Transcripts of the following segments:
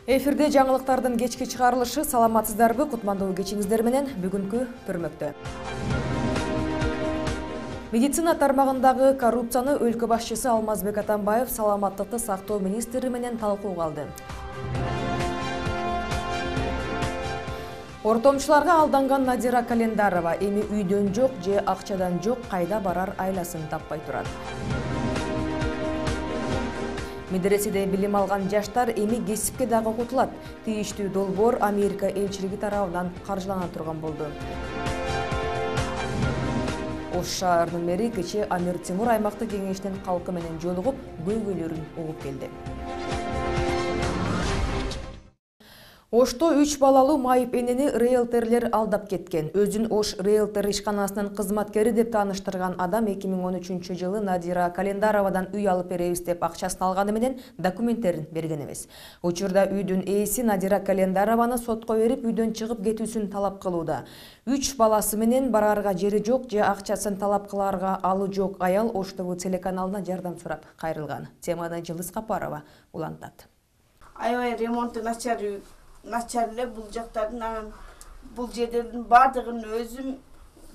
Эфирде жаңылыктардын кечки чыгарылышы. Саламатсыздарбы? Кутмандуу кечиңиздер менен бүгүнкү көрмөктө. Медицина тармагындагы коррупцияны өлкө башчысы Алмазбек Атамбаев саламаттыкты сактоо министри менен талкууга алды. Ортомчуларга алданган Надира Календарова эми үйдөн жок же акчадан жок, кайда барар айласын таппай турат. Медреседе билим алган жаштар эми кесипке дагы окутулат. Тийиштүү долбоор Америка элчилиги тарабынан каржылана турган болду. Ош шаарынын мэри кечээ Амир Темур аймактык кеңештин калкы менен жолугуп, көйгөйлөрүн угуп келди. Ошто 3 балалуу майып энени риэлторлер алдап кеткен. Өзүн Ош риэлтор ишканасынын кызматкери деп тааныштырган адам 2013-жылы Надира Календаровадан үй алып беребиз деп акчасын алганы менен документтерин берген эмес. Учурда үйдүн ээси Надира Календарованы сотко берип, үйдөн чыгып кетүүсүн талап кылууда. 3 баласы менен барарга жери жок же акчасын талап кыларга алы жок аял Ош ТВ телеканалына жардам сурап кайрылган. Теманы Жылдыз Капарова улантат. Аябай ремонту начар эле бул жактардын, анан бул жерлердин баардыгын өзүм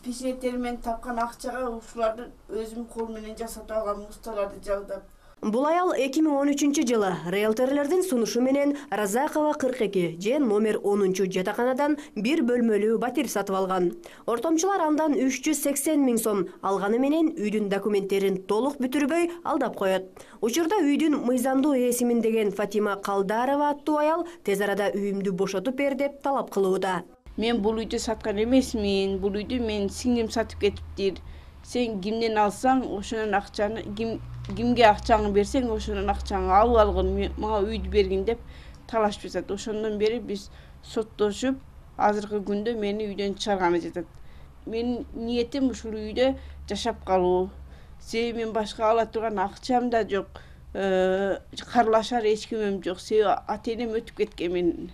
пешенеттери менен тапкан акчага ушуларды өзүм кол менен жасап алган мусталарды жалдап. Бул аял 2013-жылы риэлторлордун сунушу менен Разакова 42 же номер 10 жатаканадан бир бөлмөлүү батир сатып алган. Ортомчулар андан 380 000 сом алганы менен үйдүн документтерин толук бүтүрбөй алдап коет. Учурда үйдүн мыйзамдуу ээсимин деген Фатима Калдарова аттуу аял тез арада үйүмдү бошотуп бер деп талап кылууда. Мен бул үйдү саткан эмесмин, бул үйдү мен сиңдим сатып кетиптир. Сен кимден алсаң, ошонун акчаны кимге акчаңы берсең, ошонун акчаңы алып алгын, мага үйдү бергин деп талашып жатат. Ошондон бери биз соттошуп, азыркы күндө мени үйдөн чыгарганы жатат. Менин ниетим ушул үйдө жашап калуу. Себеби мен башка ала турган акчам да жок, карлашар эч кимим жок. Себеби ата-энем өтүп кеткен менин.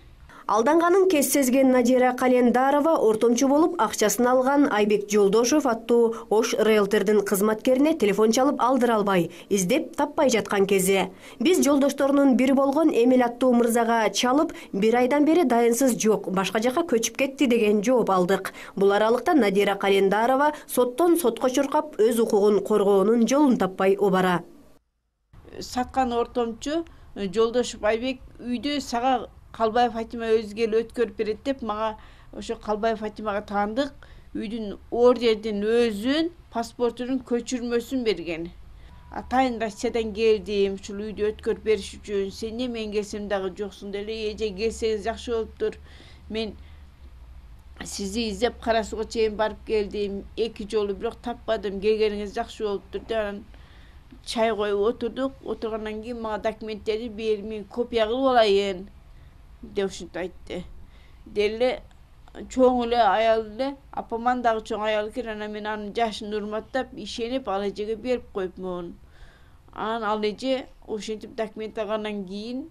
Алданганын кез сезген Надира Календарова ортомчу болуп акчасын алган Айбек Жолдошов аттуу Ош риэлтордун кызматкерине телефон чалып алдыра албай, издеп таппай жаткан кези. Биз жолдошторунун бири болгон Эмил аттуу мырзага чалып, 1 айдан бери дайынсыз жок, башка жака көчүп кетти деген жооп алдык. Бул аралыкта Надира Календарова соттон сотко чуркап, өз укугун коргоонун жолун таппай обара. Саткан ортомчу Жолдошов Айбек үйдү сага Калбаев Фатима өзү келип өткөрүп берет деп мага ошо Калбаев Фатимага таандык үйдүн ордердин өзүн, паспортунун көчүрмөсүн берген. Атайын Россиядан келдим, ушул үйдү өткөрүп бериш үчүн. Сен эмне мен келсем дагы жоксуң деле, эже келсеңиз жакшы болуптур. Мен сизди издеп Кара Сууга чейин барып келдим, 2 жолу бирок таппадым. Келгениңиз жакшы болуптур деп анан чай коюп отурдук. Отургандан кийин мага документтерди бер, мен копия кылып алайын деп ушинтип айтты. Деле чоң эле аял эле, апаман дагы чоң аял экен, анан мен анын жашын урматтап, ишенип ал эжеге берип коюпмун. Анан ал эже ошентип документ алгандан кийин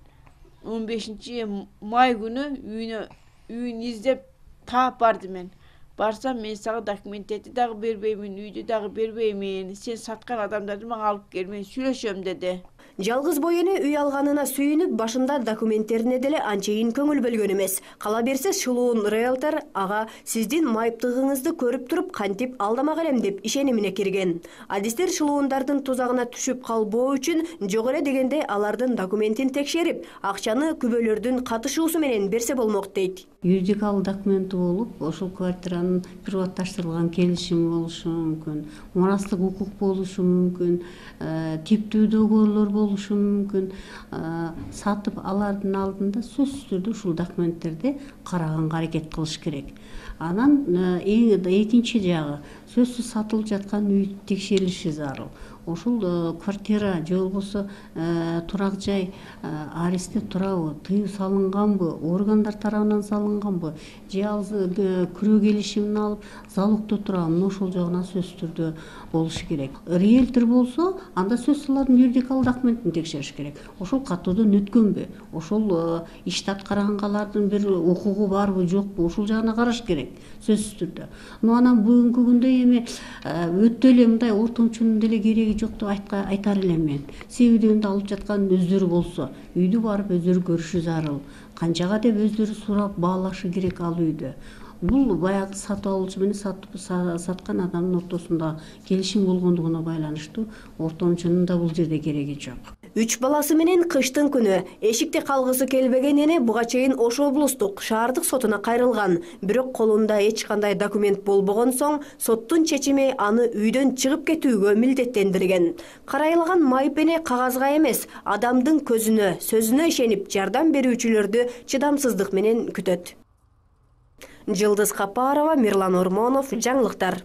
15 май күнү үйүн издеп таап барды мен. Барсам мен сага документтерди дагы бербеймин, үйдү дагы бербеймин. Сен саткан адамдарды мага алып кел, мен сүйлөшөм деди. Жалгыз бой эне үй алганына сүйүнүп, башында документтерине деле анчейин көңүл бөлгөн эмес. Кала берсе шылуун риэлтор ага сиздин майыптыгыңызды көрүп туруп кантип алдамак элем деп ишенимине кирген. Адистер шылуундардын тузагына түшүп калбоо үчүн жок эле дегенде алардын документин текшерип, акчаны күбөлөрдүн катышуусу менен берсе болмок дейт. Юридикалык документи болуп, ошол квартиранын приватташтырылган келишими болушу мүмкүн, мурастык укук болушу мүмкүн, типтүү доголор болушу мүмкүн. Сатып алардын алдында сөзсүз түрдө ушул документтерди караганга аракет кылыш керек. Анан экинчи жагы сөзсүз сатылып жаткан үй текшерилиши зарыл. Ошол квартира же болбосо турак жай арестте турабы, тыюу салынганбы, органдар тарабынан салынганбы, же ал күрөө келишимин алып залогдо турабы, ошол жагына сөзсүз түрдө болушу керек. Риэлтор болсо, анда сөзсүз алардын юридикалык документин текшериш керек. Ошол каттоодон өткөнбү, ошол ишти аткаргангалардын бир укугу барбы, жокпу, ушул жагына караш керек сөзсүз түрдө. Анан бүгүнкү күндө эми өтө эле мындай ортомчунун деле кереги жок деп айтар элем мен. Себебинди алып жаткан өздөрү болсо, үйдү барып өздөрү көрүшү зарыл. Канчага деп өздөрү сурап баалашы керек ал үйдү. Бул баягы сатып алуучу менен саткан адамдын ортосунда келишим болгондугуна байланыштуу. Ортомчунун да бул жерде кереги жок. 3 баласы менен кыштын күнү эшикте калгысы келбеген эне буга чейин Ош облустук шаардык сотуна кайрылган. Бирок колунда эч кандай документ болбогон соң соттун чечими аны үйдөн чыгып кетүүгө милдеттендирген. Карайлаган майып эне кагазга эмес, адамдын көзүнө, сөзүнө ишенип жардам берүүчүлөрдү чыдамсыздык менен күтөт. Жылдыз Капарова, Мирлан Ормонов, жаңылыктар.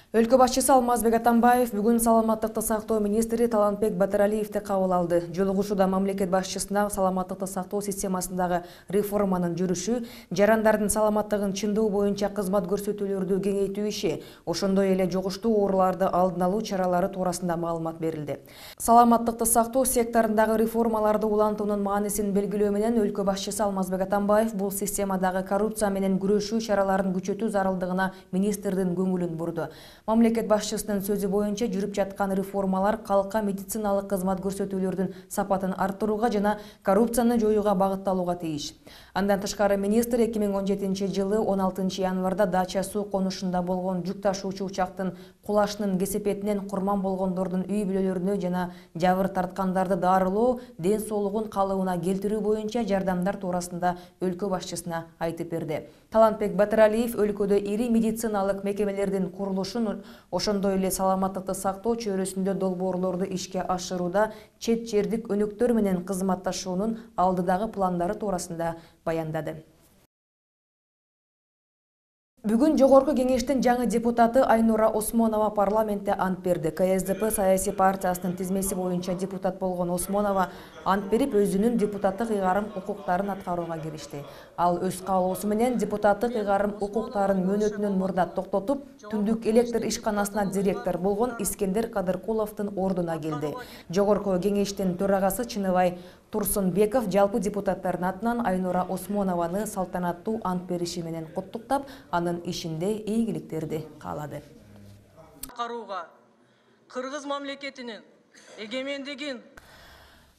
Өлкө башчысы Алмазбек Атамбаев бүгүн саламаттыкты сактоо министри Талантбек Батыралиевди кабыл алды. Жолугушууда мамлекет башчысына саламаттыкты сактоо системасындагы реформанын жүрүшү, жарандардын саламаттыгын чындоо боюнча кызмат көрсөтүүлөрдү кеңейтүү иши, ошондой эле жугуштуу ооруларды алдын алуу чаралары туурасында маалымат берилди. Саламаттыкты сактоо секторундагы реформаларды улантуунун маанисин белгилөө менен өлкө башчысы Алмазбек Атамбаев бул системадагы коррупция менен күрөшүү чараларын күчөтүү зарылдыгына министрдин көңүлүн бурду. Мамлекет башчысынын сөзү боюнча жүрүп жаткан реформалар калкка медициналык кызмат көрсөтүүлөрдүн сапатын арттырууга жана коррупцияны жоюуга багытталууга тийиш. Андан тышкары министр 2017 жылы 16 январда Дача суу конушунда болгон жүк ташуучу учактын кулашынын кесепетинен курман болгондордун үй бүлөлөрүнө жана жабыр тарткандарды дарылоо, ден соолугун калыбына келтирүү боюнча жардамдар туурасында өлкө башчысына айтып берди. Талантбек Батыралиев өлкөдө ири медициналык мекемелердин курулушун, ошондой эле саламаттыкты сактоо чөйрөсүндө долбоорлорду ишке ашырууда чет жердик өнөктөр менен кызматташуунун алдыдагы пландары туурасында баяндады. Бүгүн Жогорку кеңештин жаңы депутаты Айнура Осмонова парламентте ант берди. КСДП саясий партиясынын тизмеси боюнча депутат болгон Осмонова ант берип, өзүнүн депутаттык ыйгарым укуктарын аткарууга киришти. Ал өз каалоосу менен депутаттык ыйгарым укуктарын мөөнөтүнөн мурда токтотуп, Түндүк электр ишканасына директор болгон Искендер Кадыркуловдун ордуна келди. Жогорку кеңештин төрагасы Чыныбай Турсунбеков жалпы депутаттардын атынан Айнура Осмонованы салтанаттуу ант бериши менен куттуктап, анын ишинде ийгиликтерди каалады. Кыргыз мамлекетинин эгемендигин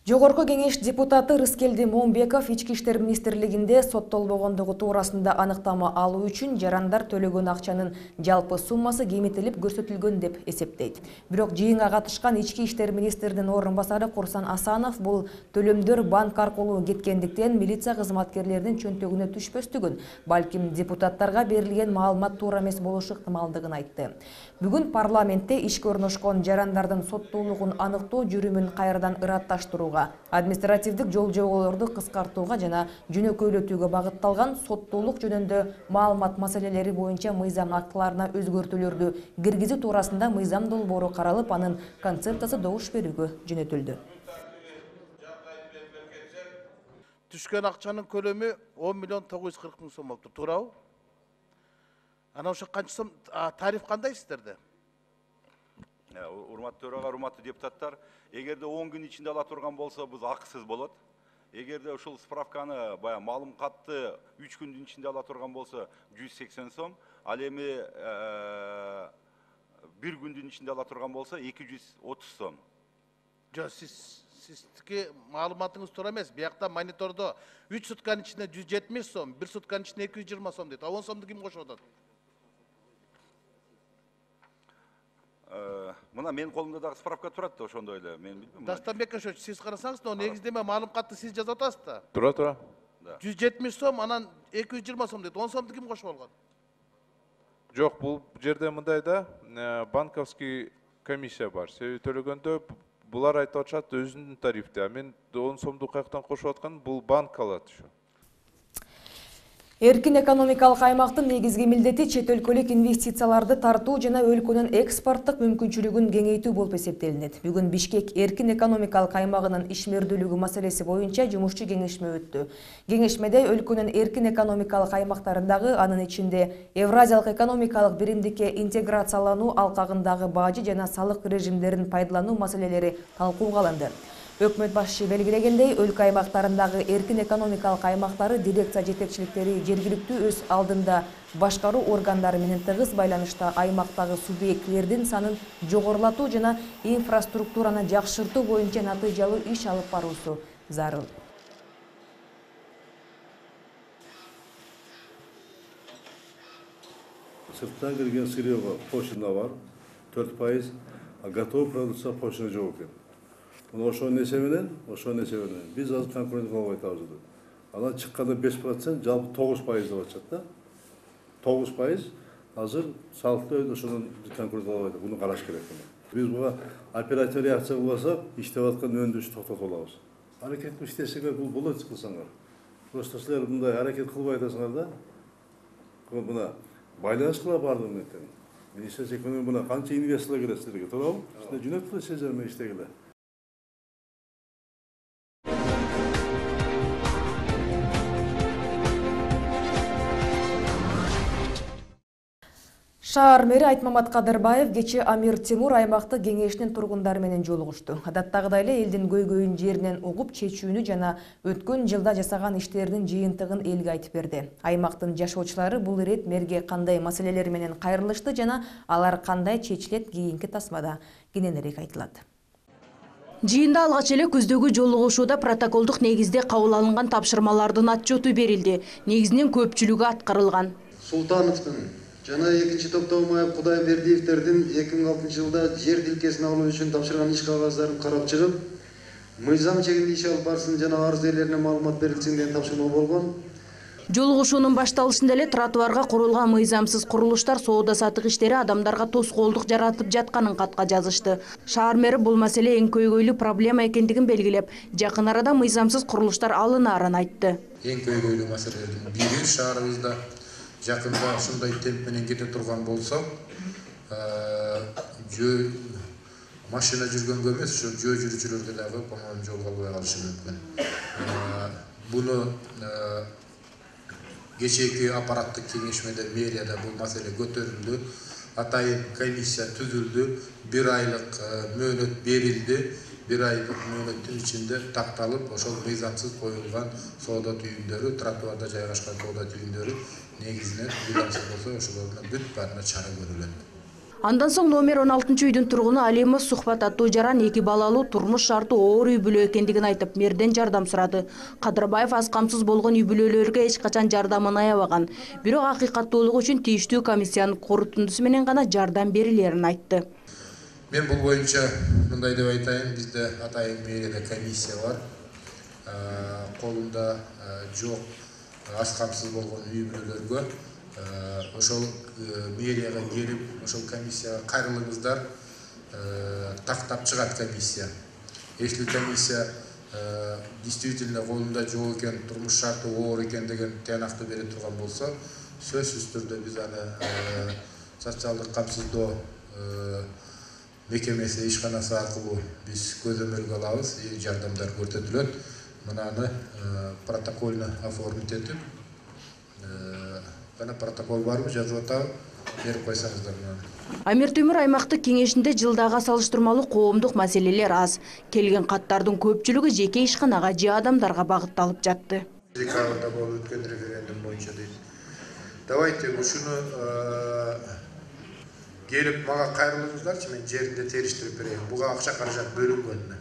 Жогорку кеңеш депутаты Рыскелди Момбеков Ички иштер министрлигинде соттолбогондугу туурасында аныктама алуу үчүн жарандар төлөгөн акчанын жалпы суммасы кемитилип көрсөтүлгөн деп эсептейт. Бирок жыйынга катышкан Ички иштер министринин орун басары Курсан Асанов бул төлөмдөр банк аркылуу кеткендиктен милиция кызматкерлеринин чөнтөгүнө түшпөстүгүн, балким депутаттарга берилген маалымат туура эмес болушу ыктымалдыгын айтты. Бүгүн парламентте ишке орношкон жарандардын соттуулугун аныктоо жүрүмүн кайрадан ыратташтырууга, административдик жол-жоболорду кыскартууга жана жөнөкөйлөтүүгө багытталган соттуулук жөнүндө маалымат маселелери боюнча мыйзам актыларына өзгөртүүлөрдү киргизүү туурасында мыйзам долбоору каралып, анын концепциясы добуш берүүгө жөнөтүлдү. Түшкөн акчанын көлөмү 10 миллион 940 миң сом болуптур, туурабы? Ана ошо канча сом тариф кандай сиздерде? Урматтуу төрага, урматтуу депутаттар, эгерде 10 күн ичинде ала турган болсо, бул акысыз болот. Эгерде ушул справканы баягы маалым катты 3 күндүн ичинде ала турган болсо 180 сом, ал эми 1 күндүн ичинде ала турган болсо 230 сом. Жок, сиздики маалыматыңыз туура эмес. Биякта монитордо 3 сутканын ичинде 170 сом, 1 сутканын ичинде 220 сом дейт. 10 сомду ким кошуп атат? Мына менин колумда дагы справка турат да, ошондой эле, мен билбейм. Дастанбек ошо сиз карасаңыз да, негиздеме маалым катты сиз жазып атасыз да. Тура. 170 сом, анан 220 сом дейт. 10 сомду ким кошуп алган? Жок, бул жерде мындай да, банковский комиссия бар. Себеби төлөгөндө булар айтып атышат өзүнүн тарифте. Мен 10 сомду каяктан кошуп аткан, бул банк алат ушу. Эркин экономикалык аймактын негизги милдети чет өлкөлүк инвестицияларды тартуу жана өлкөнүн экспорттук мүмкүнчүлүгүн кеңейтүү болуп эсептелинет. Бүгүн Бишкек эркин экономикалык аймагынын ишмердүүлүгү маселеси боюнча жумушчу кеңешме өттү. Кеңешмеде өлкөнүн эркин экономикалык аймактарындагы, анын ичинде Евразиялык экономикалык биримдикке интеграциялануу алкагындагы бажы жана салык режимдерин пайдалануу маселелери талкууга алынды. Өкмөт башчы белгилегендей, өлкө аймактарындагы эркин экономикалык аймактары дирекция жетекчиликтери жергиликтүү өз алдында башкаруу органдары менен тыгыз байланышта аймактагы субъектилердин санын жогорулатуу жана инфраструктураны жакшыртуу боюнча натыйжалуу иш алып баруусу зарыл. Сырттан келген сырьёга пошлина бар, 4%, а готовый продукция пошлина жок экен. Ошол нерсе менен биз азыр конкурент кылып атабыз. Анан чыкканда 5%, жалпы 9% деп атышат да. 9% азыр салыктуу ошонун конкурент кылып атат. Буну караш керек. Биз буга оперативдүү реакция кылбасак, иштеп аткан өндүрүштү токтотуп алабыз. Аракет иштесеңер бул болот кылсаңар. Просто силер мындай аракет кылбай атасыңар да. Мына байланыш кыла бардыгы менен. Министрлик экономия мына канча инвесторлор келет силерге, туурабы? Силер жөнөттү сезер менен иштегиле. Шаар мэри Айтмамат Кадырбаев кечээ Амир Темур аймактык кеңешинин тургундары менен жолугушту. Адаттагыдай эле элдин көйгөйүн жеринен угуп чечүүнү жана өткөн жылда жасаган иштеринин жыйынтыгын элге айтып берди. Аймактын жашоочулары бул ирет мэрге кандай маселелер менен кайрылышты жана алар кандай чечилет кийинки тасмада кененирээк айтылат. Жыйында алгач эле күздөгү жолугушууда протоколдук негизде кабыл алынган тапшырмалардын отчету берилди. Негизинен көпчүлүгү аткарылган. Султановдун жана экинчи Топтомаев Кудайбердиевтердин 2006 жылда жер тилкесин алуу үчүн тапшырган иш кагаздарын карап чыгып, мыйзам чегинде иш алып барсын жана арыз ээлерине маалымат берилсин деген тапшырма болгон. Жолугушуунун башталышында эле тротуарга курулган мыйзамсыз курулуштар соода сатык иштери адамдарга тоскоолдук жаратып жатканын катка жазышты. Шаар мэри бул маселе эң көйгөйлүү проблема экендигин белгилеп, жакын арада мыйзамсыз курулуштар алынаарын айтты. Эң көйгөйлүү маселелердин бири шаарыбызда жакында ушундай темп менен кете турган болсо, машина жүргөнгө эмес, ошо жөө жүрүүчүлөргө дагы по-моему жол албай калышы мүмкүн. Буну кечээки аппараттык кеңешмеде мэрияда бул маселе көтөрүлдү. Атайын комиссия түзүлдү, 1 айлык мөөнөт берилди. 1 айлык мөөнөттүн ичинде такталып, ошол мыйзамсыз коюлган соода түйүндөрү, тротуарда жайгашкан соода түйүндөрү негизинен мыйзамсыз болсо ошолордун бүт баарына чара көрүлөт. Андан соң номер 16-үйдүн тургуну Алимов сухбат аттуу жаран 2 балалуу турмуш шарты оор үй бүлө экендигин айтып, мэрден жардам сурады. Кадырбаев аз камсыз болгон үй бүлөлөргө эч качан жардамын аябаган. Бирок акыйкаттуулугу үчүн тийиштүү комиссиянын корутундусу менен гана жардам берилерин айтты. Мен бул боюнча мындай деп айтайын, бизде атайын мэрияда комиссия бар. Колунда жок аз камсыз болгон үй бүлөлөргө ошол мэрияга келип, ошол комиссияга кайрылыңыздар, тактап чыгат комиссия. Если комиссия действительно колунда жок экен, турмуш шарты оор экен деген тыянакты бере турган болсо, сөзсүз түрдө биз аны социалдык камсыздоо мекемеси ишканасы аркылуу биз көзөмөлгө алабыз, жардамдар көрсөтүлөт. Мынаны протокольно оформить этип, бана протокол барбы, жазып атабы, берип койсоңуздар мына. Амир Темур аймактык кеңешинде жылдага салыштырмалуу коомдук маселелер аз. Келген каттардын көпчүлүгү жеке ишканага же адамдарга багытталып жатты. Декабрда болуп өткөн референдум боюнча дейт. Давайте ушуну келип мага кайрылыңыздарчы, мен жеринде териштирип берейин. Буга акча каражат бөлүнгөн.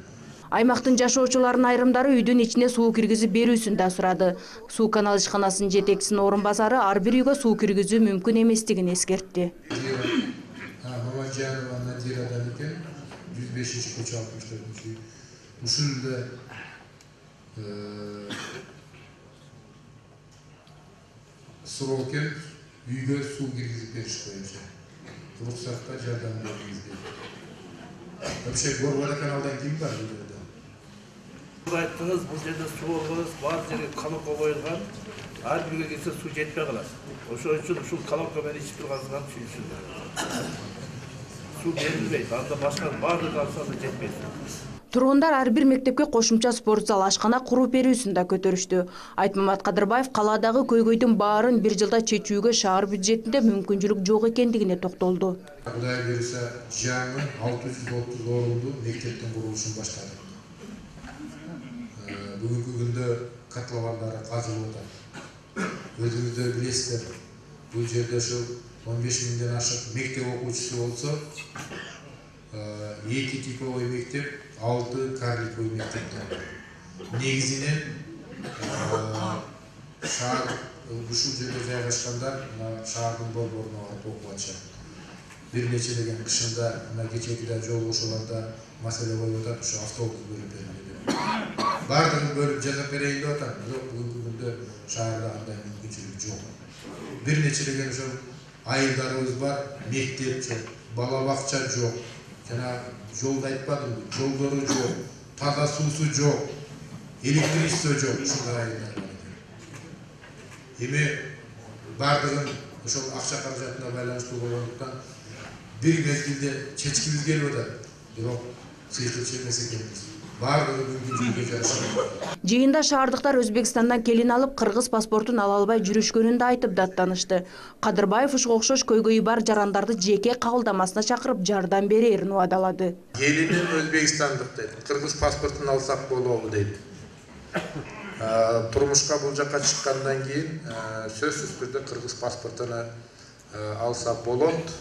Аймактын жашоочуларынын айрымдары үйдүн ичине суу киргизип берүүсүн да сурады. Суу канал ишканасынын жетекчисинин орун басары ар бир үйгө суу киргизүү мүмкүн эместигин эскертти. Мамаджанова Надирадан экен, 105-көчө 64-үй. Ушул эле суроо экен, үйгө суу киргизип бериш боюнча. Уруксатка жардам бериңиз дейт. Вообще Горбар каналдан ким бар? Айттыңыз, бұл жерде су болғаныз, бар жерге колонка қойылған, ар бирге келсе су жетпей қалады. Ошол үчүн ушул колонкамен ичип турганыңыздан түшүнсүңөр. Су берилбейт, анда башка баардык алса да жетпейт. Тургундар ар бир мектепке кошумча спорт зал, ашкана куруп берүүсүн да көтөрүштү. Айтмамат Кадырбаев калаадагы көйгөйдүн баарын бир жылда чечүүгө шаар бюджетинде мүмкүнчүлүк жок экендигине токтолду. Кудай буйруса жаңы 630 орунду мектептин курулушун баштадык. бүгүнкү күндө котловандары казылып атат. Өзүңүздөр билесиздер, бул жерде ошо 15 миңден ашык мектеп окуучусу болсо, 2 типовой мектеп, 6 карликовый мектептер. Негизинен шаар ушул жерде жайгашкандар шаардын борборуна барып окуп атышат. Бир нечелеген кышында кечээкиде жол кошууларда маселе болуп атат, ошо автобус бөлүп берилди. Бардыгын бөлүп жасап берейин деп атат, бирок бүгүнкү күндө шаарда андай мүмкүнчүлүк жок. Бир нечелеген ошо айылдарыбыз бар, мектеп жок, бала бакча жок. Жана жолду айтпадымбы, жолдору жок, таза суусу жок, электричество жок, ушундай айылдар бар. Эми бардыгын ошол акча каражатына байланыштуу болгондуктан бир мезгилде чечкибиз келип атат, бирок чечилчү эмес экенбиз. Бардыгы мүмкүнчүлүккө жараша. Жыйында шаардыктар Өзбекстандан келин алып, кыргыз паспортун ала албай жүрүшкөнүн да айтып даттанышты. Кадырбаев ушуга окшош көйгөйү бар жарандарды жеке кабылдамасына чакырып жардам берерин убадалады. Келиним өзбекстандык дейт, кыргыз паспортун алсак болобу дейт. Турмушка бул жака чыккандан кийин сөзсүз түрдө кыргыз паспортун алса болот.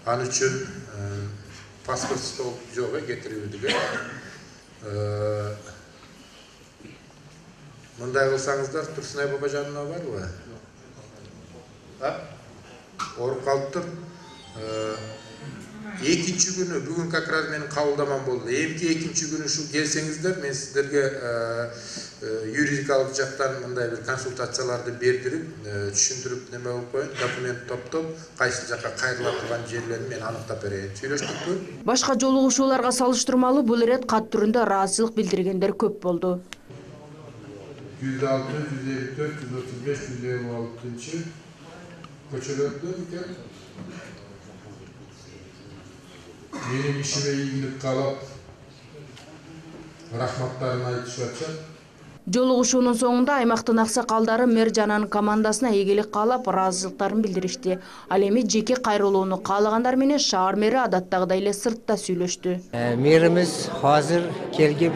Ал үчүн паспорт стол жок кетирүүдүгө. Мындай кылсаңыздар, Турсунай Бабажанова барбы? Оруп калыптыр. Экинчи күнү бүгүн как раз менин кабылдамам болду. Эмки экинчи күнү ушул келсеңиздер, мен сиздерге юридикалык жактан мындай бир консультацияларды бердирип, түшүндүрүп неме болуп коеюн, документ топтоп, кайсы жакка кайрыла турган жерлерин мен аныктап берейин. Сүйлөштүкпү? Башка жолугушууларга салыштырмалуу бул ирет кат түрүндө ыраазычылык билдиргендер көп болду. 106, 154, 135, 156 көчөлөрдө экен. Менин ишиме ийгилик каалап, рахматтарын айтышып атышат. Жолугушуунун соңунда аймактын аксакалдары мэр жананын командасына ийгилик каалап, ыраазычылыктарын билдиришти. Ал эми жеке кайрылууну каалагандар менен шаар мэри адаттагыдай эле сыртта сүйлөштү. Мэрimiz азыр келип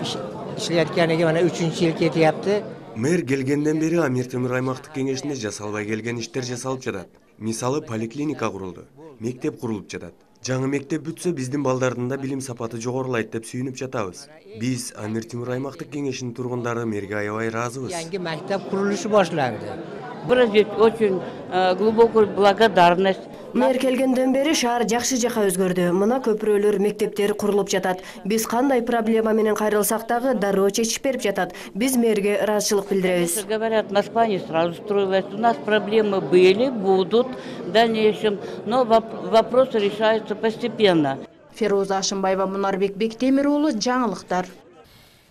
иштейатканига мына 3-жыл кетип. Мэр келгенден бери Амир Темир аймактык кеңешинде жасалбай келген иштер жасалып жатат. Мисалы поликлиника курулду, мектеп курулуп жатат. Жаңы мектеп бүтсө биздин балдардын да билим сапаты жогорулайт деп сүйүнүп жатабыз. Биз Амир Темир аймактык кеңешинин тургундары мэрге аябай ыраазыбыз. Yangi мектеп курулушу башланды. Очень глубокую благодарность. Мэр келгенден бери шаар жакшы жака өзгөрдү. Мына көпүрөлөр, мектептер курулуп жатат. Биз кандай проблема менен кайрылсак дагы дароо чечип берип жатат. Биз мэрге ыраазычылык билдиребиз. Говорят, Москва не сразу строилась. У нас проблемы были, будут в дальнейшем, но вопросы решаются постепенно. Феруза Ашымбаева, Мунарбек Бектемир уулу, жаңылыктар.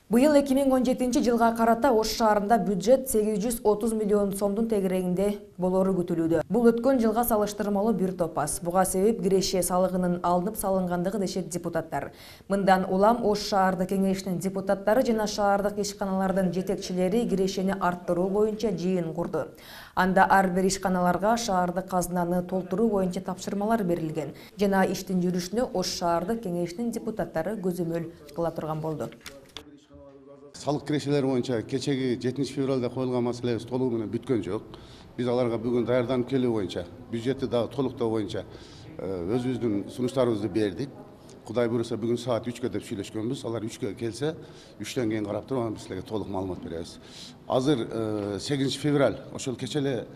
Быйыл 2017 жылга карата Ош шаарында бюджет 830 миллион сомдун тегерегинде болору күтүлүүдө. Бул өткөн жылга салыштырмалуу бир топ аз. Буга себеп киреше салыгынын алынып салынгандыгы дешет депутаттар. Мындан улам Ош шаардык кеңешинин депутаттары жана шаардык ишканалардын жетекчилери кирешени арттыруу боюнча жыйын курду. Анда ар бир ишканаларга шаардык казынаны толтуруу боюнча тапшырмалар берилген. Жана иштин жүрүшүнө Ош шаардык кеңешинин депутаттары көзөмөл кыла турган болду. Салык кирешелери боюнча кечеги 7 февралда коюлган маселебиз толугу менен бүткөн жок. Биз аларга бүгүн даярданып келүү боюнча, бюджетти дагы толуктоо боюнча өзүбүздүн сунуштарыбызды бердик. Кудай буюрса бүгүн саат 3кө деп сүйлөшкөнбүз. Алар 3кө келсе, 3төн кийин карап туруп, биз силерге толук маалымат беребиз. Азыр 8 февраль ошол кечеле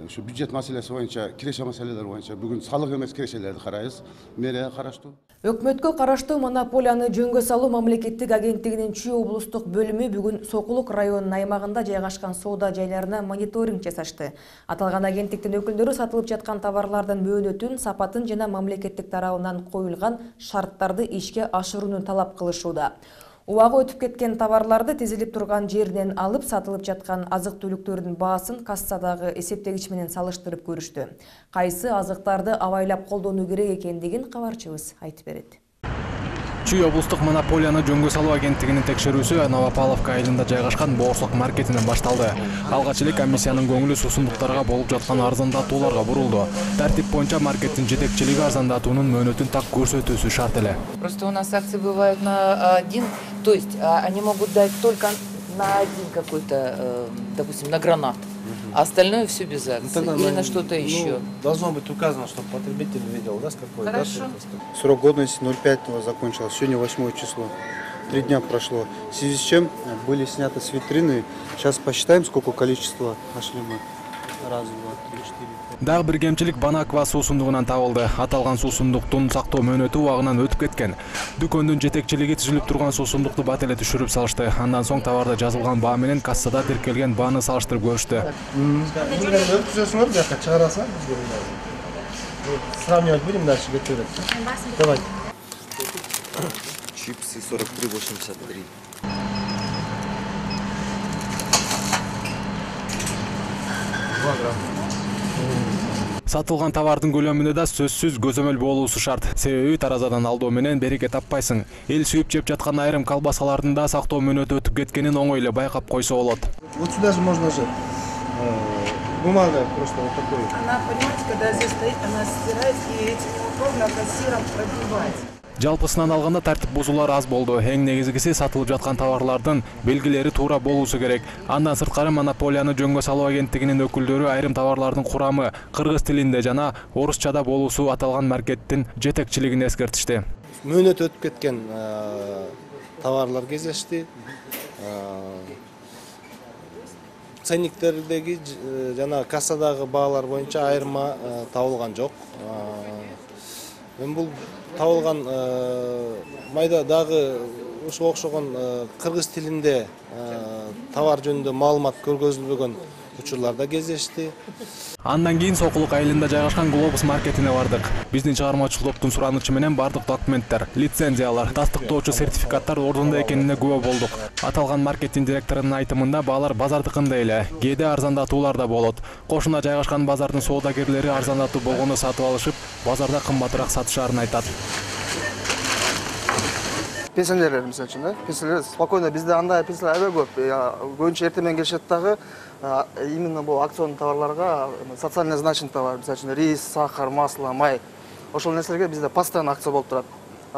ушу бюджет маселеси боюнча, киреше маселелер боюнча бүгүн салык эмес кирешелерди карайбыз. Мэрия караштуу. Өкмөткө караштуу монополияны жөнгө салуу мамлекеттик агенттигинин Чүй облустук бөлүмү бүгүн Сокулук районунун аймагында жайгашкан соода жайларына мониторинг жасашты. Аталган агенттиктин өкүлдөрү сатылып жаткан товарлардын мөөнөтүн, сапатын жана мамлекеттик тарабынан коюлган шарттарды ишке ашырууну талап кылышууда. Убагы өтүп кеткен товарларды тизилип турган жеринен алып, сатылып жаткан азык-түлүктөрдүн баасын кассадагы эсептегич менен салыштырып көрүштү. Кайсы азыктарды абайлап колдонуу керек экендигин кабарчыбыз айтып берет. Чүй облустук монополияны жөнгө салуу агенттигинин текшерүүсү Новопавловка айылында жайгашкан Боорсок маркетинен башталды. Алгач эле комиссиянын көңүлү суусундуктарга болуп жаткан арзандатууларга бурулду. Тартип боюнча маркеттин жетекчилиги арзандатуунун мөөнөтүн так көрсөтүүсү шарт эле. Просто у нас акции бывают на один, то есть они могут дать только на один какой-то, допустим, на гранат. А остальное все без акций или на что-то еще. Должно быть указано, чтобы потребитель видел, да, с какой. Хорошо. Да? Срок годности 05-го закончился, сегодня 8 число. 3 дня прошло. В связи с чем были сняты с витрины. Сейчас посчитаем, сколько количества нашли мы. Раз, два, три, четыре. Дагы бир кемчилик Банаква суусундугунан табылды. Аталган суусундуктун сактоо мөөнөтү убагынан өтүп кеткен. Дүкөндүн жетекчилиги түзүлүп турган суусундукту бат эле түшүрүп салышты. Андан соң товарда жазылган баа менен кассада тиркелген бааны салыштырып көрүштү. Өткүзөсүңөр, бияка чыгарасың. Сравнивать будем дальше, готовить. Давай. Чипсы 43,83. Сатылган товардын көлөмүндө да сөзсүз көзөмөл болуусу шарт. Себеби таразадан алдоо менен береке таппайсың. Эл сүйүп жеп жаткан айрым колбасалардын да сактоо мөөнөтү өтүп кеткенин оңой эле байкап койсо болот. Вот сюда же можно же бумага просто вот такой. Она, понимаете, когда здесь стоит, она стирает и этим неудобно кассиром пробивать. Жалпысынан алганда тартип бузуулар аз болду. Эң негизгиси сатылып жаткан товарлардын белгилери туура болуусу керек. Андан сырткары монополияны жөнгө салуу агенттигинин өкүлдөрү айрым товарлардын курамы кыргыз тилинде жана орусчада болуусу аталган маркеттин жетекчилигине эскертишти. Мөөнөтү өтүп кеткен товарлар кездешти. Ценниктердеги жана кассадагы баалар боюнча айырма табылган жок. Мен бул табылган майда дагы ошого окшогон кыргыз тилинде товар жөнүндө маалымат көргөзүлбөгөн учурлар да кездешти. Андан кийин Сокулук айылында жайгашкан Глобус маркетине бардык. Биздин чыгармачыл топтун суранычы менен бардык документтер, лицензиялар, тастыктоочу сертификаттар ордунда экенине күбө болдук. Аталган маркеттин директорунун айтымында баалар базардыкындай эле, кээде арзандатуулар да болот. Кошуна жайгашкан базардын соодагерлери арзандатуу болгону сатып алышып, базарда кымбатыраак сатышаарын айтат. Пенсионерлер, мисалы үчүн, пенсионерлер спокойно бизде андай пенсионерлер аябай көп. Көбүнчө эртең менен келишет дагы именно бул акционный товарларга социально значимый товар, мисалы үчүн рис, сахар, масло, май. Ошол нерселерге бизде постоянно акция болуп турат.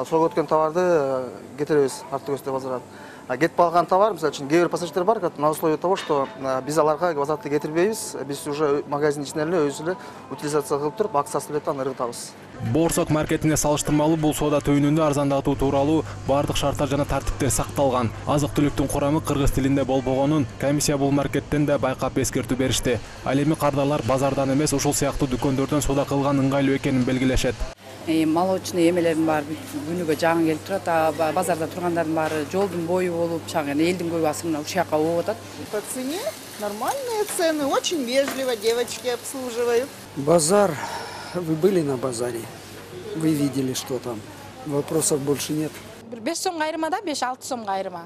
Срок өткөн товарды кетиребиз, артык өстө базарат. Кетип калган товар, мисалы үчүн кээ бир пассажирлер бар, на условие того, что биз аларга возвратты кетирбейбиз, биз уже магазин ичинде эле өзү эле утилизация кылып туруп, акциясы менен аны ыргытабыз. Боорсок маркетине салыштырмалуу бул соода түйүнүндө арзандатуу тууралуу бардык шарттар жана тартиптер сакталган. Азык-түлүктүн курамы кыргыз тилинде болбогонун комиссия бул маркеттен да байкап эскертүү беришти. Ал эми кардарлар базардан эмес ушул сыяктуу дүкөндөрдөн соода кылган ыңгайлуу экенин белгилешет. Молочный эмелердин баары күнүгө жаңы келип турат, базарда тургандардын баары жолдун бою болуп, элдин көбү мына ушул жака болуп атат. По цене нормальные цены, очень вежливо девочки обслуживают. Базар. Вы были на базаре? Вы видели, что там? Вопросов больше нет. 5 сомго айырма да, 5-6 сомго айырма.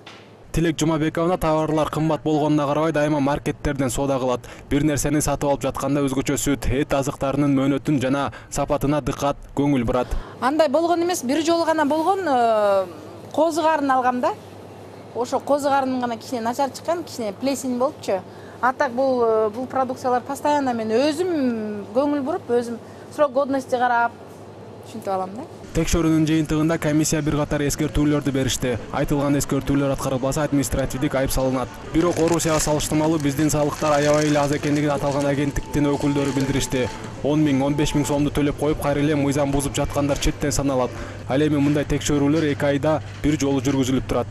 Тилек Жумабековна товарлар кымбат болгонуна карабай дайыма маркеттерден соода кылат. Бир нерсени сатып алып жатканда өзгөчө сүт, эт азыктарынын мөөнөтүн жана сапатына дыккат, көңүл бурат. Андай болгон эмес, бир жолу гана болгон, козу карын алгам да. Ошо козу карынын гана кичине начар чыккан, кичине плесень болупчу. А так бул продукциялар постоянно мен өзүм көңүл буруп, өзүм срок годности карап ушинтип алам да. Текшөрүүнүн жыйынтыгында комиссия бир катар эскертүүлөрдү беришти. Айтылган эскертүүлөр аткарылбаса административдик айып салынат. Бирок Орусияга салыштырмалуу биздин салыктар аябай эле аз экендигин аталган агенттиктин өкүлдөрү билдиришти. 10 000, 15 000 сомду төлөп коюп кайра эле мыйзам бузуп жаткандар четтен саналат. Ал эми мындай текшөрүүлөр 2 айда бир жолу жүргүзүлүп турат.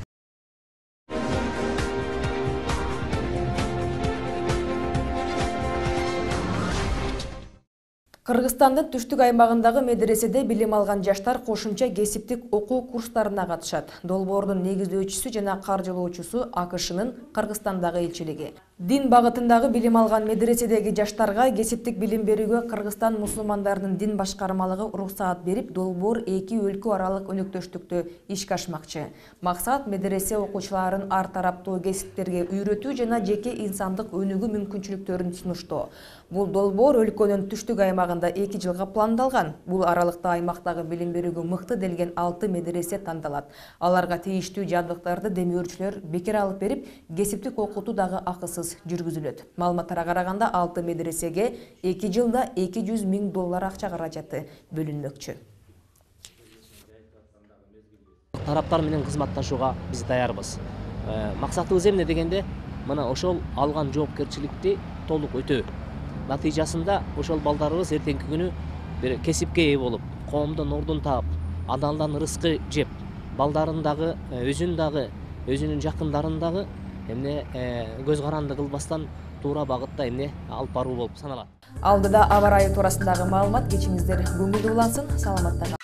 Кыргызстандын түштүк аймагындагы медреседе билим алган жаштар кошумча кесиптик окуу курстарына катышат. Долбоордун негиздөөчүсү жана каржылоочусу АКШнын Кыргызстандагы элчилиги. Дин багытындагы билим алган медреседеги жаштарга кесиптик билим берүүгө Кыргызстан мусулмандарынын дин башкармалыгы уруксаат берип, долбоор эки өлкө аралык өнөктөштүктү ишке ашмакчы. Максат медресе окуучуларын ар тараптуу кесиптерге үйрөтүү жана жеке инсандык өнүгүү мүмкүнчүлүктөрүн сунуштоо. Бул долбоор өлкөнүн түштүк аймагында 2 жылга пландалган. Бул аралыкта аймактагы билим берүүгө мыкты делген 6 медресе тандалат. Аларга тийиштүү жабдыктарды демөөрчүлөр бекер алып берип, кесиптик окутуу дагы акысыз жүргүзүлөт. Маалыматтарга караганда 6 медресеге 2 жылда $200 000 акча каражаты бөлүнмөкчү. Тараптар менен кызматташууга биз даярбыз. Максатыбыз эмне дегенде, мына ошол алган жоопкерчиликти толук өтөө. Натыйжасында ошол балдарыбыз эртеңки күнү бир кесипке ээ болуп, коомдон ордун таап, адалдан рызкы жеп, балдарын дагы, өзүн дагы, өзүнүн жакындарын дагы эмне көз каранды кылбастан туура багытта эмне алып баруу болуп саналат. Алдыда аба ырайы туурасындагы маалымат, кечиңиздер көңүлдүү улансын. Саламатта